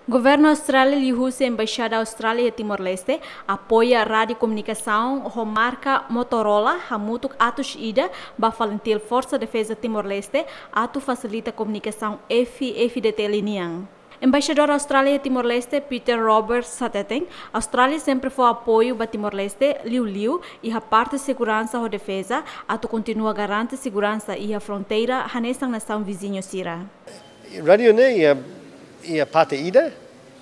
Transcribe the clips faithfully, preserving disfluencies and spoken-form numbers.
Governu Austrália liuhusi Embaixada Austrália iha Timor-Leste apoia rádiu komunikasaun ho marka Motorola hamutuk atus ida ba FALINTIL, Forsa Defeza Timor-Leste, atu fasilita komunikasaun F-FDTL nian. Embaixadór Austrália iha Timor-Leste, Peter Roberts, hateten Austrália sempre fó apoiu ba Timor-Leste, liuliu iha parte seguransa ho defeza, atu kontinua garante seguransa iha fronteira hanesan nasaun viziñu sira. Rádiu ne'e iha, iha parte ida,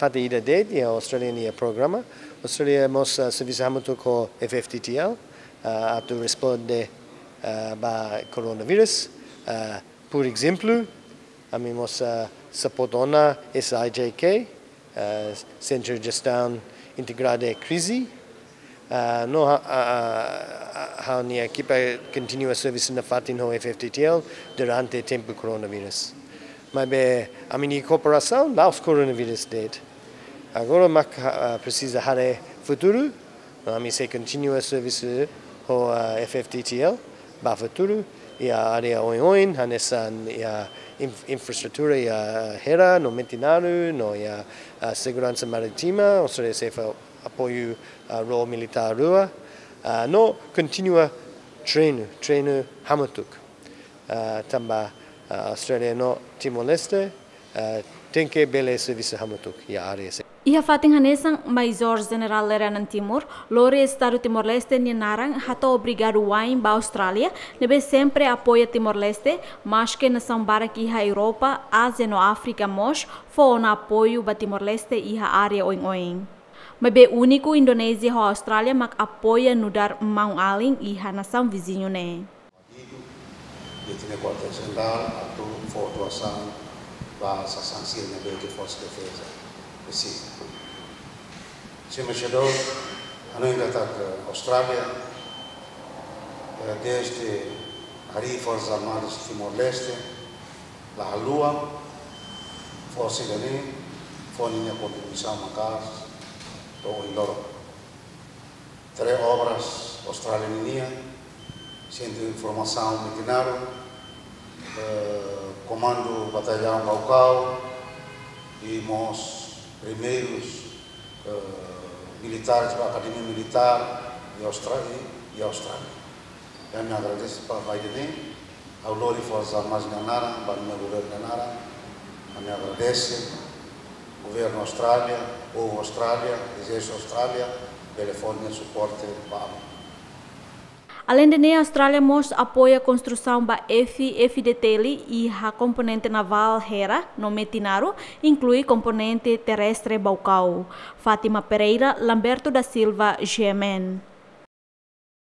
parte ida de'it iha Austrália nia programa. Austrália mós, ah, servisu hamutuk ho F-FDTL, ah, atu responde, ah, ba koronavírus. Ah, por ezemplu, ami mós, ah, suporta ona S I J K, ah, Sentru Jestaun Integrada Krize. Ah, no ha-, ah, ah, ah, ha'u-nia ekipa kontinua servisu nafatin ho F-FDTL durante tempu koronavírus. Maibé ami-nia kooperasaun la'ós koronavírus de'it. Agora mak, ah, presiza haree futuru, no ami sei kontinua servisu ho, ah, F-FDTL ba futuru, iha área oioin, hanesan iha inf-, infraestrutura iha Hera no Metinaro, no iha, ah, seguransa marítima, Austrália sei fó apoiu, ah, ró militár rua, ah, no kontinua treinu, treinu hamutuk. Ah, tanba, ah, Austrália no Timor-Leste, ah, tenke bele servisu hamutuk iha área sira. Iha fatin hanesan, Maizór Jenerál Lere Anan Timur lori Estadu Timor-Leste nia naran hato'o obrigadu wa'in ba Austrália ne'ebé sempre apoia Timor-Leste, maske nasaun barak iha Europa, Ázia no Áfrika mós fó ona apoiu ba Timor-Leste iha área oioin. Maibé úniku Indonézia ho Austrália mak apoia nu'udar maun-alin iha nasaun viziñu ne'e. Iha ita-nia kuartél jenerál atu fó atuasaun ba sasán sira ne'ebé ke Forsa Defeza presiza. Señór Embaixadór, hanoin katak Austrália, eh, dezde harii Forsas Armadas Timor-Leste la haluha, forsa ida-ne'e fó ninia kontribuisaun maka'as to'o ohin loron. Três obras Austrália ninian, Sentru Informasaun Metinaro, eh, Komandu Batallaun Baucau, i mós primeirus, eh, militares ba Akademia Militár iha Austra-, iha Austrália. Ami agradese ba ida-ne'e, ha'u lori Forsas Armadas nia naran, ba nia governu nia naran, ami agradese, governu Austrália, povu Austrália, ezérsitu Austrália, bele fó nia suporte ba ami. Aleinde ne'e, Austrália mós apoia konstrusaun ba F-FDTL iha komponente navál Hera no Metinaro, inklui komponente terrestre Baucau. Fátima Pereira, Lamberto da Silva, G M N.